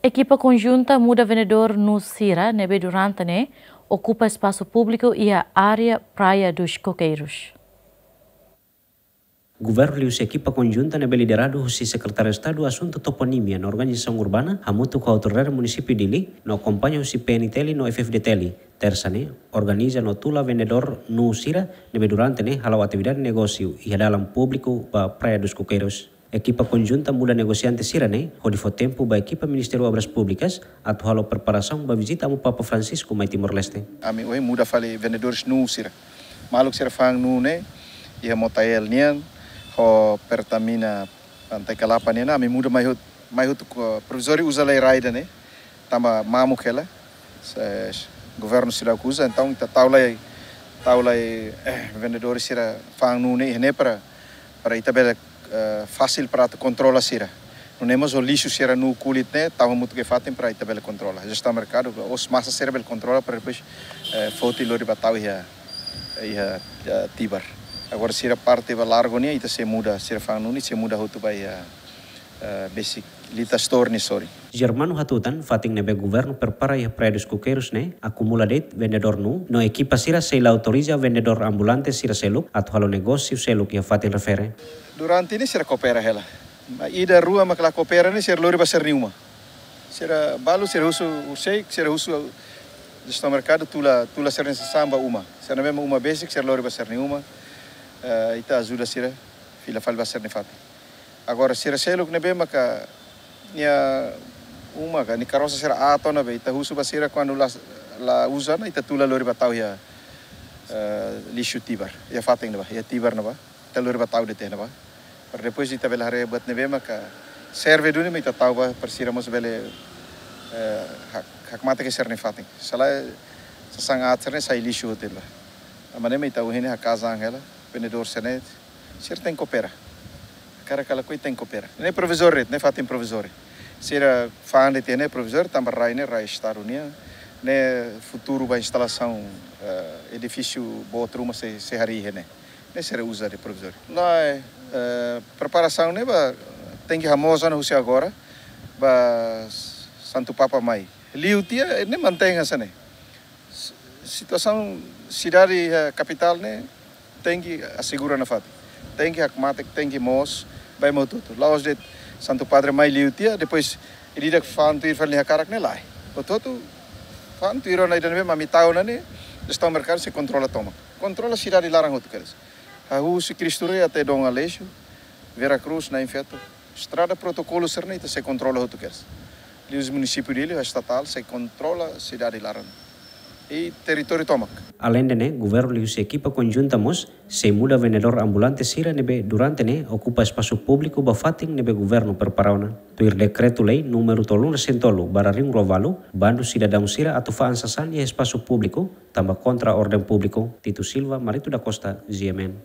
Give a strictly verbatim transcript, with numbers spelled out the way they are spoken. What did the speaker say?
Ekipa konjunta muda vendedór nuu sira ne'ebé durante ne'e okupa espasu públiku iha área Praia dos Coqueiros. Governu liuhusi ekipa konjunta ne'ebé lideradu husi Sekretáriu Estadu Asuntu Toponímia no Organizasaun Urbana, hamutuk ho autoridade munisípiu Dili, no akompaña husi P N T L no F F D T L, Tersa ne'e organiza no tula vendedór nuu sira ne'ebé durante ne'e hala'o atividade negósiu iha dalan públiku ba Praia dos Coqueiros. Ekipa konjunta muda negosiante sira ne'e hodi fó tempu ba ekipa Ministériu Obras Públikas atu halo preparasaun ba vizita Amu Papa Francisco mai Timor-Leste. Ami ohin muda fali vendedores nuu sira. Maluk sira fa'an nuu ne'e iha Motael nian ho Pertamina Pantai Kalapa nian, ami muda mai hotu, mai hotu ho provizóriu, uza lai rai ida ne'e, tanba mamuk hela. Se governu seidauk uza, entaun ita tau lai, tau lai, eh, vendedores sira fa'an nuu ne'e iha ne'e para, para ita bele, eh, fasil para atu kontrola sira. Nune'e mós ho lixu sira nuu kulit ne'e, tau hamutuk iha fatin para ita bele kontrola. Jestaun merkadu, os masa sira bele kontrola para depois, eh, foti lori ba tau iha, iha, iha Tibar. Agora sira parte ba largu nian, ita sei muda, sira fa'an nuu ne'e sei muda hotu ba iha, eh, besik Lita Store nia sorin. Germano hatutan, fatin ne'ebé governu prepara iha Praia dos Coqueiros ne'e akumula de'it vendedór nuu, no ekipa sira sei la autoriza vendedór ambulante sira seluk atu halo negósiu seluk iha fatin refere. Durante ne'e sira koopera hela. Maibé ida rua mak la koopera ne'e sira lori ba sira-nia uma. Sira balu sira husu, sei, sira husu jestaun merkadu tula, tula sira-nia sasán ba uma. Sira-nia uma besik sira lori ba sira-nia uma. Eh, ita ajuda sira fila fali ba sira-nia fatin. Agora sira seluk ne'ebé maka nia uma ka nia karosa sira aat ona be, ita husu ba sira kuandu la, la uza ona, ita tula lori ba tau iha, eh, lixu Tibar, iha fatin ne'ebá, iha Tibar ne'ebá. Ita lori ba tau de'it iha ne'ebá. Para depois ita bele haree buat ne'ebé maka serve duni mak ita tau ba, para sira mós bele, eh, hak-, hakmatek iha sira-nia fatin. Se lae, sasán aat sira-ne'e sai lixu hotu iha ne'ebá. Tanba ne'e mak ita ohin ne'e haka'as an hela, vendedór sira-ne'e, sira tenke koopera. Hakarak ka lakohi tenke koopera. Ne'e provizóriu, ne'e fatin provizóriu. Sira fa'an de'it iha ne'e provizóriu, tanba rai ne'e rai Estadu nian. Ne'e futuru ba instalasaun, eh, edifísiu boot ruma sei, sei harii iha ne'e. Ne'e sira uza de'it provizóriu. Lae, eh, preparasaun ne'e ba, tenke hamoos ona husi agora ba Santu Papa mai. Liu tiha, ne'e mantein hanesan ne'e. Si-, situasaun sidade, eh, kapitál ne'e tenke asegura nafatin. Tenke hakmatek, tenke moos, ba ema hotu-hotu. La'ós de'it Santu Padre mai liu tiha, depois ida-idak fa'an tuir fali nia hakarak ne'e lae. Hotu-hotu fa'an tuir ona ida ne'ebé mak ami tau ona ne'e, jestaun merkadu sei kontrola tomak. Kontrola sidade laran hotu kedas. Hahú husi Cristo Rei até Dom Aleixo, Vera Cruz, Nain Feto. Estrada protokolu sira-ne'e ita sei kontrola hotu kedas. Liuhusi munisípiu Dili, estatál, sei kontrola sidade laran. I territóriu tomak. Aleinde ne'e, governu liuhusi ekipa konjunta mós sei muda vendedór ambulante sira ne'ebé durante ne'e okupa espasu públiku ba fatin ne'ebé governu prepara ona. Tuir dekretu-lei númeru tolunulu-resin-tolu barra rihun rua ualu, bandu sidadaun sira atu fa'an sasán iha espasu públiku, tanba kontra orden públiku. Tito Silva, Marito da Costa, G M N.